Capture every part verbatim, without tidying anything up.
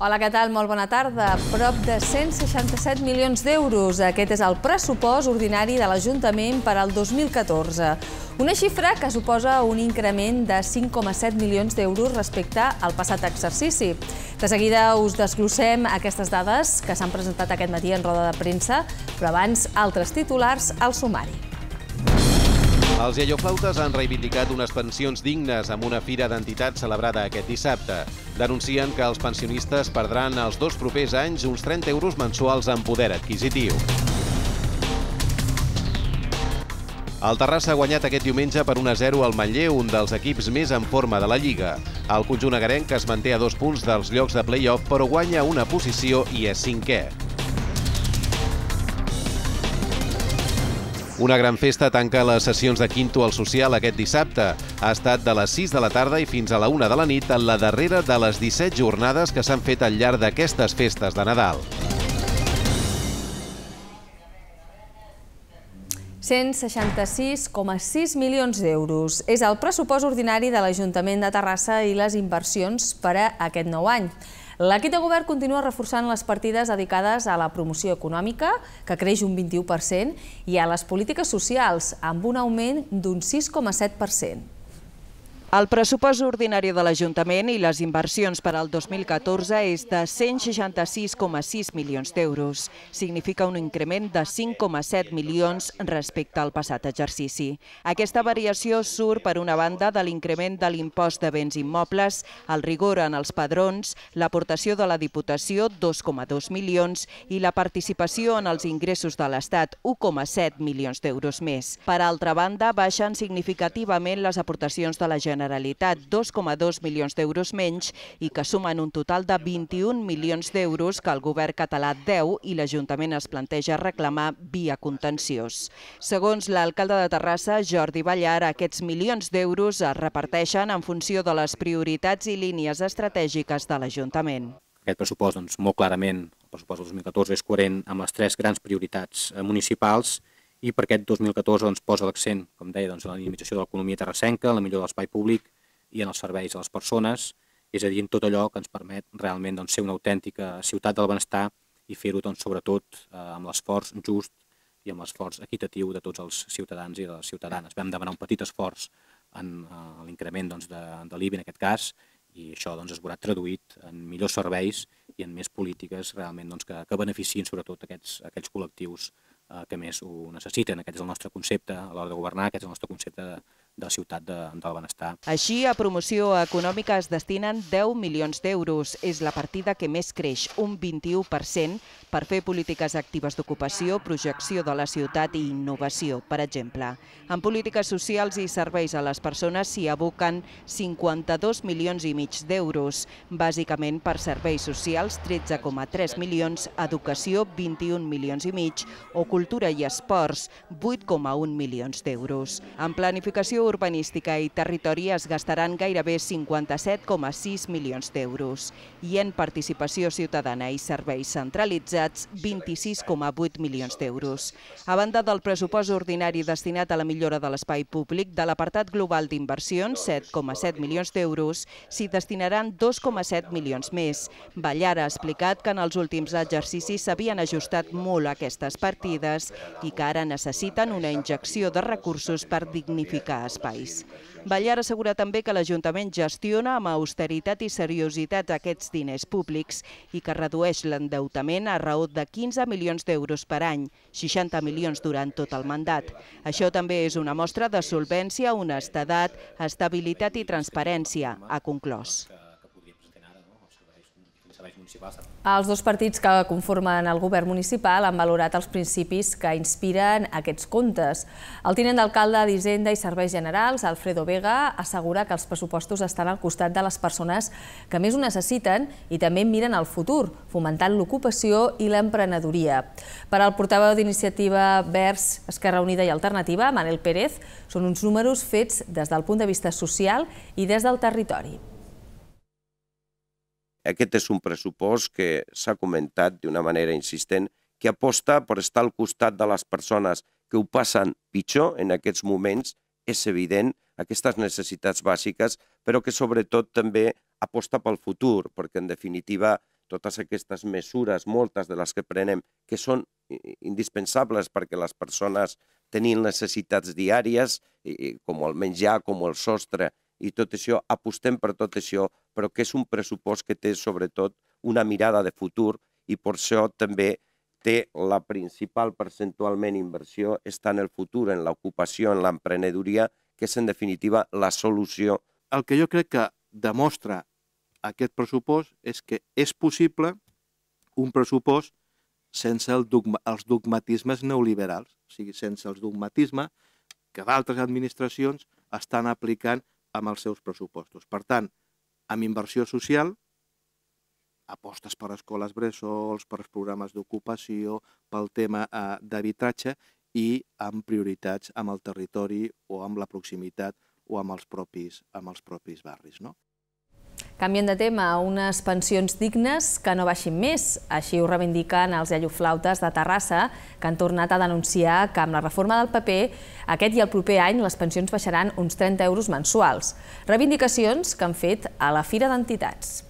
Hola, què tal? Molt bona tarda. Prop de cent seixanta-set milions d'euros. Aquest és el pressupost ordinari de l'Ajuntament per al dos mil catorze. Una xifra que suposa un increment de cinc coma set milions d'euros respecte al passat exercici. De seguida us desglossem aquestes dades que s'han presentat aquest matí en roda de premsa, però abans altres titulars al sumari. Els iaioflautes han reivindicat unes pensions dignes amb una fira d'entitats celebrada aquest dissabte. Denuncien que els pensionistes perdran els dos propers anys uns trenta euros mensuals en poder adquisitiu. El Terrassa ha guanyat aquest diumenge per un a zero al Manlleu, un dels equips més en forma de la Lliga. El conjunt agarenc es manté a dos punts dels llocs de play-off, però guanya una posició i és cinquè. Una gran festa tanca les sessions de Quinto al Social aquest dissabte. Ha estat de les sis de la tarda i fins a la una de la nit en la darrera de les disset jornades que s'han fet al llarg d'aquestes festes de Nadal. cent seixanta-sis coma sis milions d'euros. És el pressupost ordinari de l'Ajuntament de Terrassa i les inversions per a aquest nou any. L'equip de govern continua reforçant les partides dedicades a la promoció econòmica, que creix un vint-i-u per cent, i a les polítiques socials, amb un augment d'un sis coma set per cent. El pressupost ordinari de l'Ajuntament i les inversions per al dos mil catorze és de cent seixanta-sis coma sis milions d'euros. Significa un increment de cinc coma set milions respecte al passat exercici. Aquesta variació surt, per una banda, de l'increment de l'impost de béns immobles, el rigor en els padrons, l'aportació de la Diputació, dos coma dos milions, i la participació en els ingressos de l'Estat, un coma set milions d'euros més. Per altra banda, baixen significativament les aportacions de la Generalitat, Generalitat, dos coma dos milions d'euros menys, i que sumen un total de vint-i-un milions d'euros que el govern català deu i l'Ajuntament es planteja reclamar via contenciós. Segons l'alcalde de Terrassa, Jordi Ballar, aquests milions d'euros es reparteixen en funció de les prioritats i línies estratègiques de l'Ajuntament. Aquest pressupost, doncs, molt clarament, el pressupost del dos mil catorze és coherent amb les tres grans prioritats municipals, i per aquest dos mil catorze doncs, posa l'accent, com deia, doncs, en la dinamització de l'economia terrassenca, en la millora de l'espai públic i en els serveis a les persones, és a dir, en tot allò que ens permet realment doncs, ser una autèntica ciutat del benestar i fer-ho doncs, sobretot eh, amb l'esforç just i amb l'esforç equitatiu de tots els ciutadans i de les ciutadanes. Vam demanar un petit esforç en eh, l'increment doncs, de, de l'I B I en aquest cas, i això doncs, es veurà traduït en millors serveis i en més polítiques realment doncs, que, que beneficien sobretot aquests, aquests col·lectius que més ho necessiten. Aquest és el nostre concepte a l'hora de governar, aquest és el nostre concepte de, de la ciutat de, del benestar. Així, a promoció econòmica es destinen deu milions d'euros. És la partida que més creix, un vint-i-u per cent, per fer polítiques actives d'ocupació, projecció de la ciutat i innovació, per exemple. En polítiques socials i serveis a les persones s'hi aboquen cinquanta-dos milions i mig d'euros, bàsicament per serveis socials, tretze coma tres milions, educació, vint-i-un milions i mig, o cultura i esports, vuit coma un milions d'euros. En planificació urbanística i territori es gastaran gairebé cinquanta-set coma sis milions d'euros i en participació ciutadana i serveis centralitzats vint-i-sis coma vuit milions d'euros. A banda del pressupost ordinari destinat a la millora de l'espai públic, de l'apartat global d'inversions, set coma set milions d'euros, s'hi destinaran dos coma set milions més. Ballar ha explicat que en els últims exercicis s'havien ajustat molt aquestes partides i que ara necessiten una injecció de recursos per dignificar espais. Ballar assegura també que l'Ajuntament gestiona amb austeritat i seriositat aquests diners públics i que redueix l'endeutament a raó de quinze milions d'euros per any, seixanta milions durant tot el mandat. Això també és una mostra de solvència, honestedat, estabilitat i transparència, ha conclòs. Els dos partits que conformen el govern municipal han valorat els principis que inspiren aquests comptes. El tinent d'alcalde d'Hisenda i Serveis Generals, Alfredo Vega, assegura que els pressupostos estan al costat de les persones que més ho necessiten i també miren al futur, fomentant l'ocupació i l'emprenedoria. Per al portaveu d'Iniciativa Verds, Esquerra Unida i Alternativa, Manel Pérez, són uns números fets des del punt de vista social i des del territori. Aquest és un pressupost que s'ha comentat d'una manera insistent, que aposta per estar al costat de les persones que ho passen pitjor en aquests moments, és evident, aquestes necessitats bàsiques, però que sobretot també aposta pel futur, perquè en definitiva totes aquestes mesures, moltes de les que prenem, que són indispensables perquè les persones tenien necessitats diàries, com el menjar, com el sostre, i tot això, apostem per tot això, però que és un pressupost que té sobretot una mirada de futur i per això també té la principal percentualment inversió està en el futur, en l'ocupació, en l'emprenedoria, que és en definitiva la solució. El que jo crec que demostra aquest pressupost és que és possible un pressupost sense el dogma, els dogmatismes neoliberals, o sigui, sense els dogmatismes que d'altres administracions estan aplicant amb els seus pressupostos. Per tant, amb inversió social, apostes per escoles bressols, per programes d'ocupació, pel tema eh, d'habitatge i amb prioritats amb el territori o amb la proximitat o amb els propis, amb els propis barris, no? Canviem de tema, unes pensions dignes que no baixin més. Així ho reivindiquen els iaioflautes de Terrassa, que han tornat a denunciar que amb la reforma del P P aquest i el proper any les pensions baixaran uns trenta euros mensuals. Reivindicacions que han fet a la Fira d'Entitats.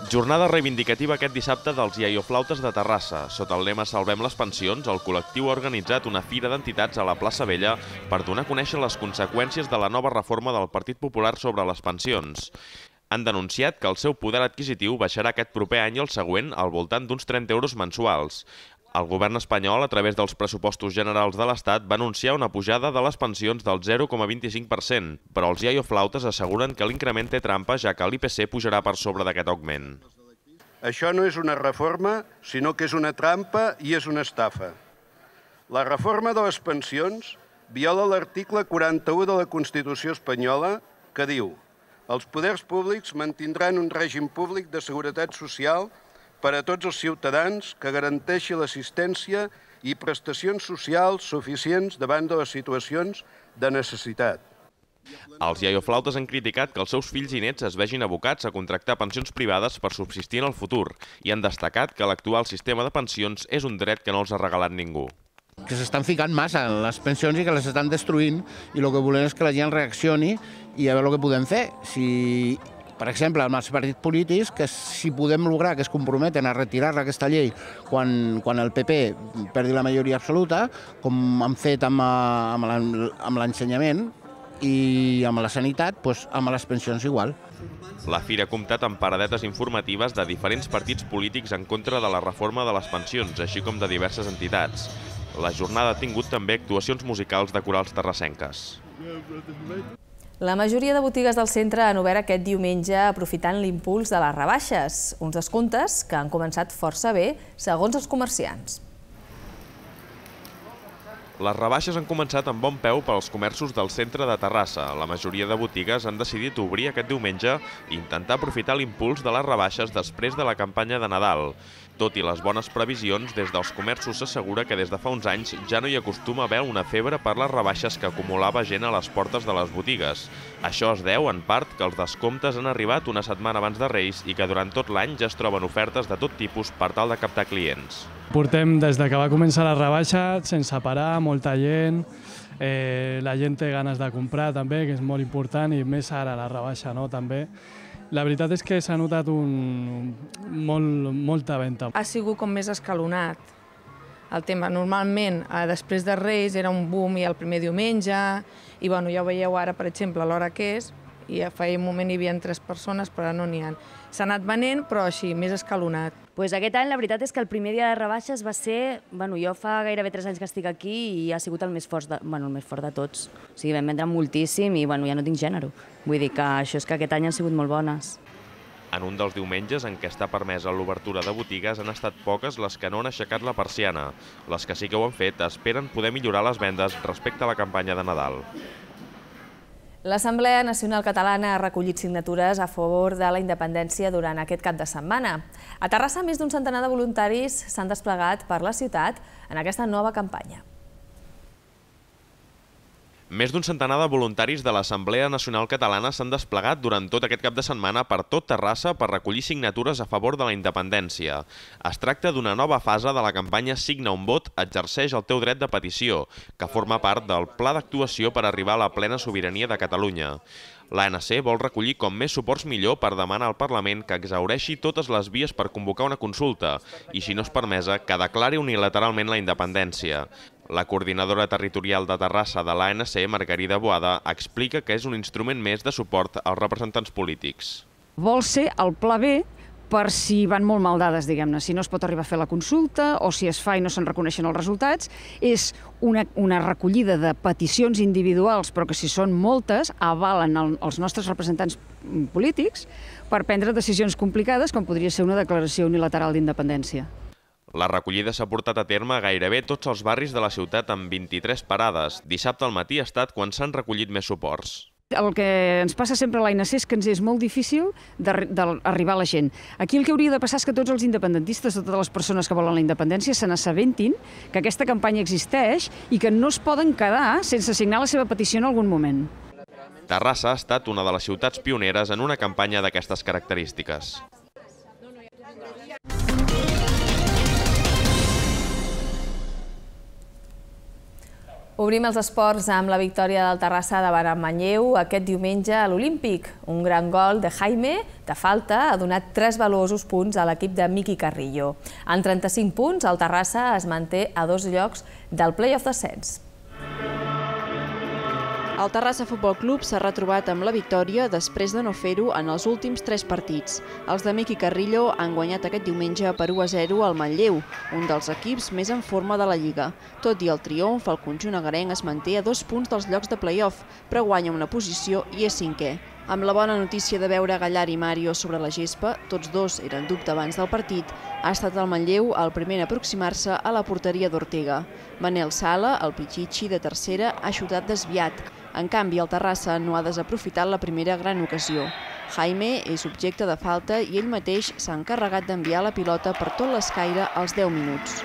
Jornada reivindicativa aquest dissabte dels iaioflautes de Terrassa. Sota el lema Salvem les pensions, el col·lectiu ha organitzat una fira d'entitats a la plaça Vella per donar a conèixer les conseqüències de la nova reforma del Partit Popular sobre les pensions. Han denunciat que el seu poder adquisitiu baixarà aquest proper any i el següent al voltant d'uns trenta euros mensuals. El govern espanyol, a través dels pressupostos generals de l'Estat, va anunciar una pujada de les pensions del zero coma vint-i-cinc per cent, però els iaioflautes asseguren que l'increment té trampa, ja que l'I P C pujarà per sobre d'aquest augment. Això no és una reforma, sinó que és una trampa i és una estafa. La reforma de les pensions viola l'article quaranta-u de la Constitució espanyola, que diu: els poders públics mantindran un règim públic de seguretat social per a tots els ciutadans que garanteixi l'assistència i prestacions socials suficients davant de les situacions de necessitat. Els iaioflautes han criticat que els seus fills i nets es vegin abocats a contractar pensions privades per subsistir en el futur i han destacat que l'actual sistema de pensions és un dret que no els ha regalat ningú. Que s'estan ficant massa en les pensions i que les estan destruint i el que volem és que la gent reaccioni i a veure el que podem fer. Si... Per exemple, amb els partits polítics, que si podem lograr que es comprometen a retirar aquesta llei quan, quan el P P perdi la majoria absoluta, com han fet amb, amb l'ensenyament i amb la sanitat, doncs amb les pensions igual. La fira ha comptat amb paradetes informatives de diferents partits polítics en contra de la reforma de les pensions, així com de diverses entitats. La jornada ha tingut també actuacions musicals de corals terrassenques. La majoria de botigues del centre han obert aquest diumenge aprofitant l'impuls de les rebaixes, uns descomptes que han començat força bé, segons els comerciants. Les rebaixes han començat amb bon peu pels comerços del centre de Terrassa. La majoria de botigues han decidit obrir aquest diumenge i intentar aprofitar l'impuls de les rebaixes després de la campanya de Nadal. Tot i les bones previsions, des dels comerços s'assegura que des de fa uns anys ja no hi acostuma a haver una febre per les rebaixes que acumulava gent a les portes de les botigues. Això es deu, en part, que els descomptes han arribat una setmana abans de Reis i que durant tot l'any ja es troben ofertes de tot tipus per tal de captar clients. Portem des que va començar la rebaixa sense parar, molta gent, eh, la gent té ganes de comprar també, que és molt important, i més ara la rebaixa, no, també. La veritat és que s'ha notat un, molt, molta venda. Ha sigut com més escalonat el tema. Normalment, després de Reis, era un boom i el primer diumenge, i bueno, ja ho veieu ara, per exemple, a l'hora que és, i fa un moment hi havia tres persones, però ara no n'hi ha. S'ha anat venent, però així, més escalonat. Pues aquest any la veritat és que el primer dia de rebaixes va ser... Bueno, jo fa gairebé tres anys que estic aquí i ha sigut el més fort de, bueno, el més fort de tots. O sigui, vam vendre moltíssim i bueno, ja no tinc gènere. Vull dir que això és que aquest any han sigut molt bones. En un dels diumenges en què està permesa l'obertura de botigues han estat poques les que no han aixecat la persiana. Les que sí que ho han fet esperen poder millorar les vendes respecte a la campanya de Nadal. L'Assemblea Nacional Catalana ha recollit signatures a favor de la independència durant aquest cap de setmana. A Terrassa, més d'un centenar de voluntaris s'han desplegat per la ciutat en aquesta nova campanya. Més d'un centenar de voluntaris de l'Assemblea Nacional Catalana s'han desplegat durant tot aquest cap de setmana per tot Terrassa per recollir signatures a favor de la independència. Es tracta d'una nova fase de la campanya Signa un vot, exerceix el teu dret de petició, que forma part del pla d'actuació per arribar a la plena sobirania de Catalunya. L'A N C vol recollir com més suports millor per demanar al Parlament que exhaureixi totes les vies per convocar una consulta i, si no és permesa, que declari unilateralment la independència. La coordinadora territorial de Terrassa de l'A N C, Margarida Boada, explica que és un instrument més de suport als representants polítics. Vol ser el pla B per si van molt mal dades, diguem-ne, si no es pot arribar a fer la consulta o si es fa i no se'n reconeixen els resultats. És una, una recollida de peticions individuals, però que si són moltes, avalen el, els nostres representants polítics per prendre decisions complicades, com podria ser una declaració unilateral d'independència. La recollida s'ha portat a terme a gairebé tots els barris de la ciutat amb vint-i-tres parades. Dissabte al matí ha estat quan s'han recollit més suports. El que ens passa sempre a l'A N C és que ens és molt difícil d'arribar a la gent. Aquí el que hauria de passar és que tots els independentistes, totes les persones que volen la independència, se n'assabentin que aquesta campanya existeix i que no es poden quedar sense signar la seva petició en algun moment. Terrassa ha estat una de les ciutats pioneres en una campanya d'aquestes característiques. Obrim els esports amb la victòria del Terrassa davant el Manlleu aquest diumenge a l'Olímpic. Un gran gol de Jaime, de falta, ha donat tres valuosos punts a l'equip de Miqui Carrillo. En trenta-cinc punts, el Terrassa es manté a dos llocs del play-off d'ascens. El Terrassa Futbol Club s'ha retrobat amb la victòria després de no fer-ho en els últims tres partits. Els de Miqui Carrillo han guanyat aquest diumenge per u a zero al Manlleu, un dels equips més en forma de la Lliga. Tot i el triomf, el conjunt agarenc es manté a dos punts dels llocs de play-off, però guanya una posició i és cinquè. Amb la bona notícia de veure Gallar i Mario sobre la gespa, tots dos eren dubte abans del partit, ha estat el Manlleu el primer a aproximar-se a la porteria d'Ortega. Manel Sala, el Pichichi de tercera, ha xutat desviat. En canvi, el Terrassa no ha desaprofitat la primera gran ocasió. Jaime és objecte de falta i ell mateix s'ha encarregat d'enviar la pilota per tot l'escaire als deu minuts.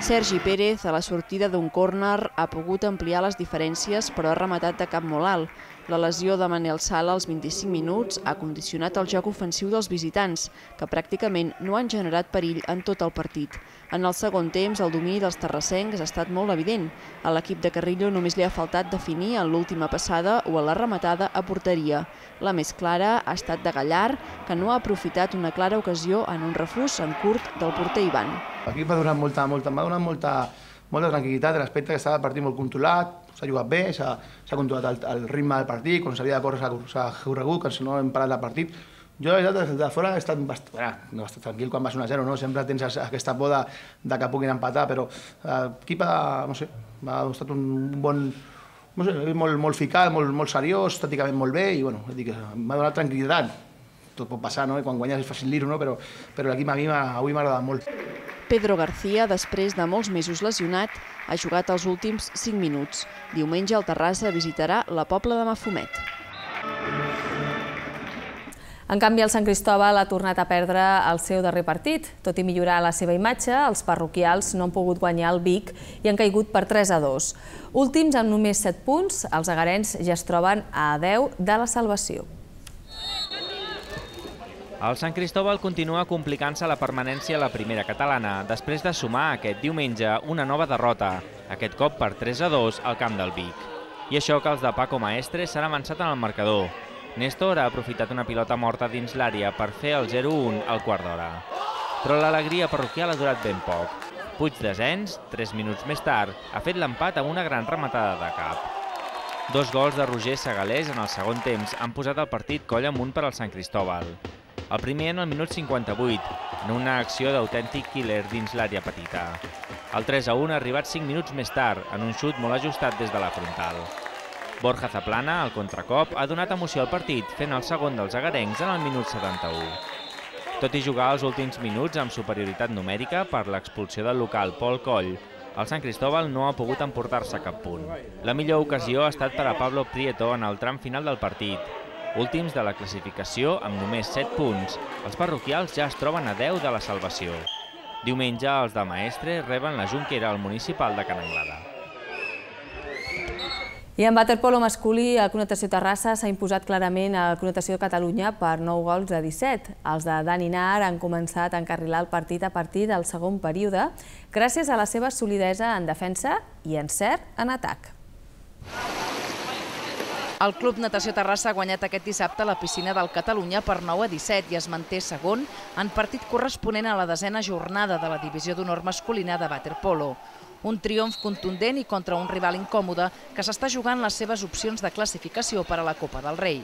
Sergi Pérez, a la sortida d'un córner, ha pogut ampliar les diferències, però ha rematat de cap molt alt. La lesió de Manel Sala als vint-i-cinc minuts ha condicionat el joc ofensiu dels visitants, que pràcticament no han generat perill en tot el partit. En el segon temps, el domini dels terrassencs ha estat molt evident. A l'equip de Carrillo només li ha faltat definir en l'última passada o a la rematada a porteria. La més clara ha estat de Gallar, que no ha aprofitat una clara ocasió en un refús en curt del porter Ivan. L'equip m'ha donat molta, molta, m'ha donat molta, molta tranquil·litat en l'aspecte que estava el partit molt controlat, s'ha jugat bé, s'ha controlat el, el ritme del partit, quan s'havia de córrer s'ha corregut, que si no hem parat el partit. Jo, la veritat, des de fora he estat bastant, bueno, no bastant tranquil quan vas un a zero, no? Sempre tens aquesta por de, de que puguin empatar, però l'equip ha, no sé, ha estat un bon, no sé, molt, molt ficat, molt, molt seriós, tàcticament molt bé, i bueno, m'ha donat tranquil·litat. Tot pot passar, no? Quan guanyes és fàcil dir-ho, no? Però, però l'equip avui m'ha agradat molt. Pedro García, després de molts mesos lesionat, ha jugat els últims cinc minuts. Diumenge el Terrassa visitarà la Pobla de Mafumet. En canvi, el Sant Cristóbal ha tornat a perdre el seu darrer partit. Tot i millorar la seva imatge, els parroquials no han pogut guanyar el Vic i han caigut per tres a dos. Últims amb només set punts, els agarens ja es troben a deu de la salvació. El Sant Cristóbal continua complicant-se la permanència a la primera catalana, després de sumar aquest diumenge una nova derrota, aquest cop per tres a dos al camp del Vic. I això que els de Paco Maestre s'han avançat en el marcador. Néstor ha aprofitat una pilota morta dins l'àrea per fer el zero a un al quart d'hora. Però l'alegria parroquial ha durat ben poc. Puig Desens, tres minuts més tard, ha fet l'empat amb una gran rematada de cap. Dos gols de Roger Segalés en el segon temps han posat el partit coll amunt per al Sant Cristóbal. El primer en el minut cinquanta-vuit, en una acció d'autèntic killer dins l'àrea petita. El tres a un ha arribat cinc minuts més tard, en un xut molt ajustat des de la frontal. Borja Zaplana, al contracop, ha donat emoció al partit, fent el segon dels agarencs en el minut setanta-u. Tot i jugar els últims minuts amb superioritat numèrica per l'expulsió del local Pol Coll, el Sant Cristóbal no ha pogut emportar-se cap punt. La millor ocasió ha estat per a Pablo Prieto en el tram final del partit. Últims de la classificació amb només set punts, els parroquials ja es troben a deu de la salvació. Diumenge els de Maestre reben la Junquera al municipal de Can Anglada. I en waterpolo masculí, el Club Natació Terrassa s'ha imposat clarament al Club Natació de Catalunya per nou gols a disset. Els de Dani Nar han començat a encarrilar el partit a partir del segon període, gràcies a la seva solidesa en defensa i encert en atac. El Club Natació Terrassa ha guanyat aquest dissabte a la piscina del Catalunya per nou a disset i es manté segon en partit corresponent a la desena jornada de la divisió d'honor masculina de waterpolo. Un triomf contundent i contra un rival incòmode que s'està jugant les seves opcions de classificació per a la Copa del Rei.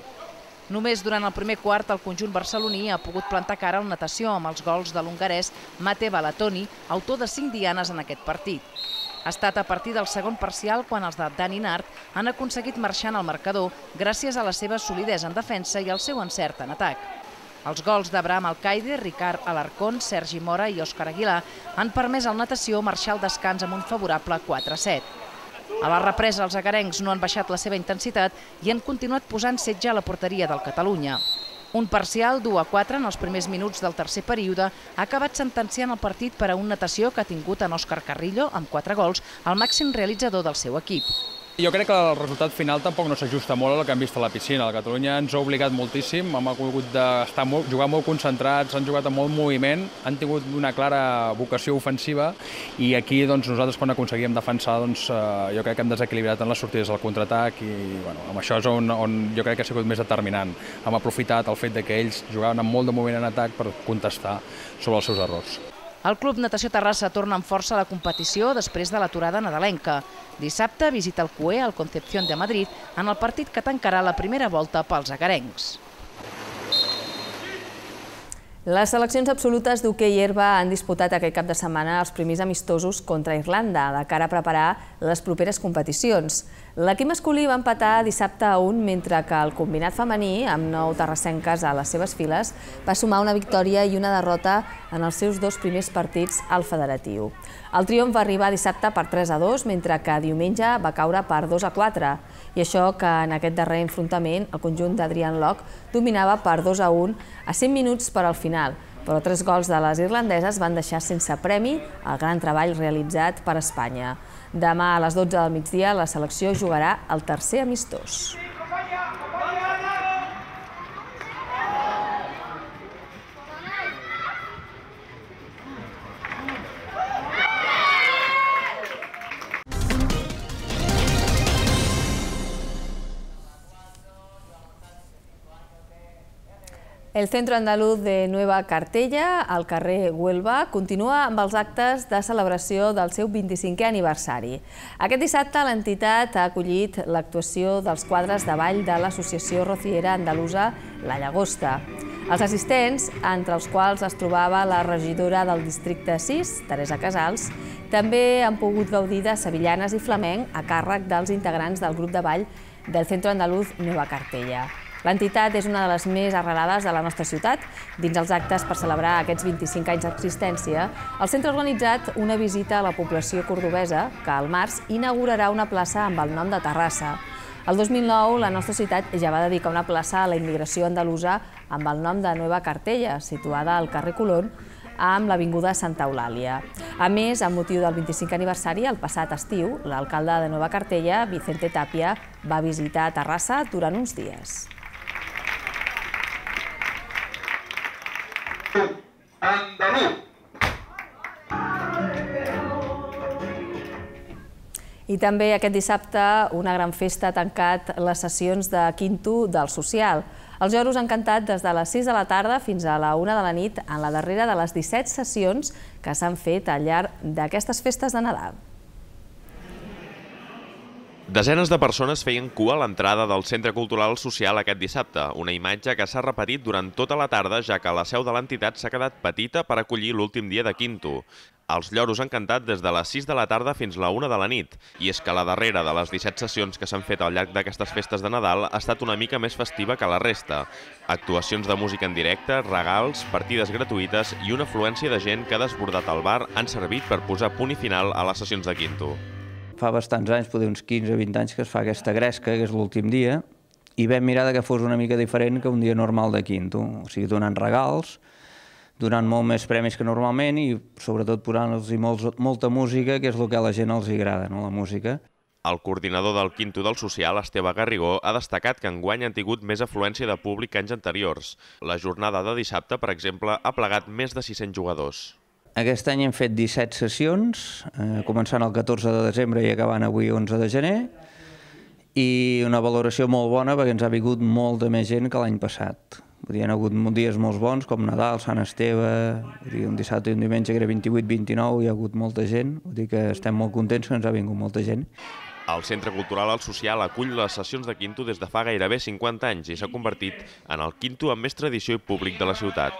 Només durant el primer quart el conjunt barceloní ha pogut plantar cara al natació amb els gols de l'hongarès Mate Balatoni, autor de cinc dianes en aquest partit. Ha estat a partir del segon parcial quan els de Dani Nart han aconseguit marxar en el marcador gràcies a la seva solidesa en defensa i al seu encert en atac. Els gols d'Abraham Alcaide, Ricard Alarcón, Sergi Mora i Òscar Aguilar han permès al natació marxar al descans amb un favorable quatre a set. A la represa, els agarencs no han baixat la seva intensitat i han continuat posant setge a la porteria del Catalunya. Un parcial d'u a quatre en els primers minuts del tercer període ha acabat sentenciant el partit per a un natació que ha tingut en Òscar Carrillo, amb quatre gols, el màxim realitzador del seu equip. Jo crec que el resultat final tampoc no s'ajusta molt al que hem vist a la piscina. El Catalunya ens ha obligat moltíssim, hem hagut de jugar molt concentrats, han jugat amb molt moviment, han tingut una clara vocació ofensiva i aquí nosaltres quan aconseguíem defensar jo crec que hem desequilibrat en les sortides del contraatac i amb això és on jo crec que ha sigut més determinant. Hem aprofitat el fet que ells jugaven amb molt de moviment en atac per contestar sobre els seus errors. El Club Natació Terrassa torna amb força a la competició després de l'aturada nadalenca. Dissabte visita el C U E al Concepción de Madrid en el partit que tancarà la primera volta pels agarencs. Les seleccions absolutes d'hoquei herba han disputat aquest cap de setmana els primers amistosos contra Irlanda, de cara a preparar les properes competicions. L'equip masculí va empatar dissabte a un, mentre que el combinat femení, amb nou terrassenques a les seves files, va sumar una victòria i una derrota en els seus dos primers partits al federatiu. El triomf va arribar dissabte per tres a dos, mentre que diumenge va caure per dos a quatre. I això que en aquest darrer enfrontament el conjunt d'Adrian Locke dominava per dos a un a cinc minuts per al final, però tres gols de les irlandeses van deixar sense premi el gran treball realitzat per Espanya. Demà a les dotze del migdia la selecció jugarà el tercer amistós. El Centro Andaluz de Nueva Cartella, al carrer Huelva, continua amb els actes de celebració del seu vint-i-cinquè aniversari. Aquest dissabte l'entitat ha acollit l'actuació dels quadres de ball de l'Associació Rociera Andalusa La Llagosta. Els assistents, entre els quals es trobava la regidora del districte sis, Teresa Casals, també han pogut gaudir de sevillanes i flamenc a càrrec dels integrants del grup de ball del Centro Andaluz Nueva Cartella. L'entitat és una de les més arrelades de la nostra ciutat. Dins els actes per celebrar aquests vint-i-cinc anys d'existència, el centre ha organitzat una visita a la població cordobesa que al març inaugurarà una plaça amb el nom de Terrassa. El dos mil nou, la nostra ciutat ja va dedicar una plaça a la immigració andalusa amb el nom de Nueva Cartella, situada al carrer Colón, amb l'avinguda Santa Eulàlia. A més, amb motiu del vint-i-cinquè aniversari, el passat estiu, l'alcalde de Nueva Cartella, Vicente Tapia, va visitar Terrassa durant uns dies. Andaluz. I també aquest dissabte una gran festa ha tancat les sessions de quinto del social. Els lloros han cantat des de les sis de la tarda fins a la una de la nit en la darrera de les disset sessions que s'han fet al llarg d'aquestes festes de Nadal. Desenes de persones feien cua a l'entrada del Centre Cultural Social aquest dissabte, una imatge que s'ha repetit durant tota la tarda, ja que la seu de l'entitat s'ha quedat petita per acollir l'últim dia de quinto. Els lloros han cantat des de les sis de la tarda fins a la una de la nit, i és que la darrera de les disset sessions que s'han fet al llarg d'aquestes festes de Nadal ha estat una mica més festiva que la resta. Actuacions de música en directe, regals, partides gratuïtes i una afluència de gent que ha desbordat el bar han servit per posar punt i final a les sessions de quinto. Fa bastants anys, potser uns quinze o vint anys, que es fa aquesta gresca, que és l'últim dia, i vam mirar que fos una mica diferent que un dia normal de quinto. O sigui, donant regals, donant molt més premis que normalment i sobretot posant-los molta música, que és el que a la gent els agrada, la música. El coordinador del Quinto del Social, Esteve Garrigó, ha destacat que enguany han tingut més afluència de públic que anys anteriors. La jornada de dissabte, per exemple, ha plegat més de sis-cents jugadors. Aquest any hem fet disset sessions, eh, començant el catorze de desembre i acabant avui onze de gener, i una valoració molt bona perquè ens ha vingut molta més gent que l'any passat. Hi ha hagut dies molt bons, com Nadal, Sant Esteve, un dissabte i un diumenge que era vint-i-vuit vint-i-nou, hi ha hagut molta gent, vull dir que estem molt contents que ens ha vingut molta gent. El Centre Cultural El Social acull les sessions de Quinto des de fa gairebé cinquanta anys i s'ha convertit en el quinto amb més tradició i públic de la ciutat.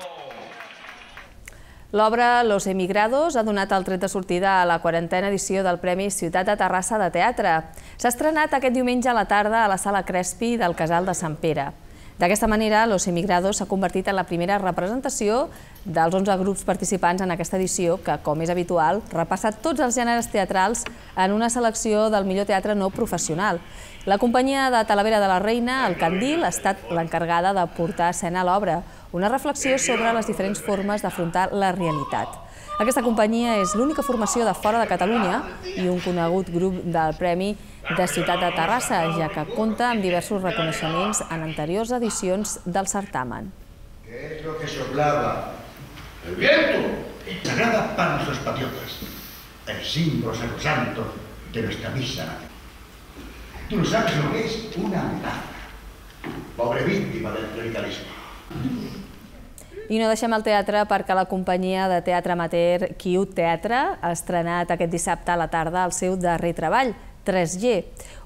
L'obra Los Emigrados ha donat el tret de sortida a la quarantena edició del Premi Ciutat de Terrassa de Teatre. S'ha estrenat aquest diumenge a la tarda a la Sala Crespi del Casal de Sant Pere. D'aquesta manera, Los Emigrados s'ha convertit en la primera representació dels onze grups participants en aquesta edició que, com és habitual, repassa tots els gèneres teatrals en una selecció del millor teatre no professional. La companyia de Talavera de la Reina, el Candil, ha estat l'encarregada de portar a escena l'obra, una reflexió sobre les diferents formes d'afrontar la realitat. Aquesta companyia és l'única formació de fora de Catalunya i un conegut grup del Premi de Ciutat de Terrassa, ja que compta amb diversos reconeixements en anteriors edicions del certamen. ¿Qué es lo que soplaba? El viento. Sagrada para nuestros patriotas, el símbolo sacrosanto de nuestra misa. Tú no sabes lo que es una metáfora. Pobre víctima del clericalismo. I no deixem el teatre perquè la companyia de teatre amateur Quiut Teatre ha estrenat aquest dissabte a la tarda el seu darrer treball, tres G.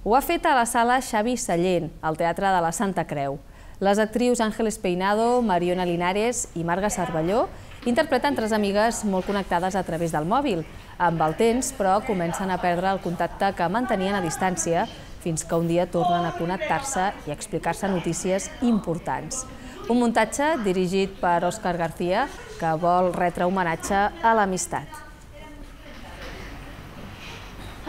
Ho ha fet a la sala Xavi Sallent, al Teatre de la Santa Creu. Les actrius Ángeles Peinado, Mariona Linares i Marga Cervelló interpreten tres amigues molt connectades a través del mòbil. Amb el temps, però, comencen a perdre el contacte que mantenien a distància fins que un dia tornen a connectar-se i explicar-se notícies importants. Un muntatge dirigit per Òscar García que vol retre homenatge a l'amistat.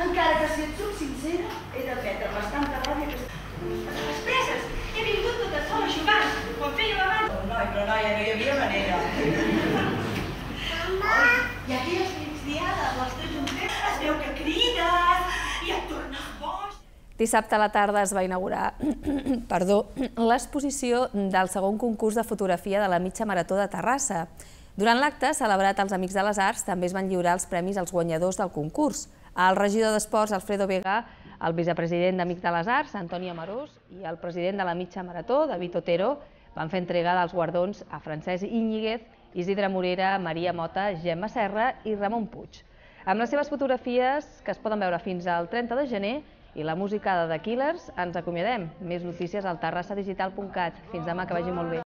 Encara que si et soc sincera, he de prendre bastanta ràbia que... A les preses! He vingut tota sola a jugar, quan feia abans. Oh, noi, però noia, no hi havia manera. Mama! I aquelles migdiades, les teus junters, es veu que crides i et tornes boig. Dissabte a la tarda es va inaugurar perdó, l'exposició del segon concurs de fotografia de la mitja marató de Terrassa. Durant l'acte, celebrat als Amics de les Arts, també es van lliurar els premis als guanyadors del concurs. El regidor d'Esports, Alfredo Vega, el vicepresident d'Amics de les Arts, Antoni Amarós, i el president de la mitja marató, David Otero, van fer entrega dels guardons a Francesc Íñiguez, Isidre Morera, Maria Mota, Gemma Serra i Ramon Puig. Amb les seves fotografies, que es poden veure fins al trenta de gener, i la música de The Killers, ens acomiadem. Més notícies al terrassa digital punt cat. Fins demà, que vagi molt bé.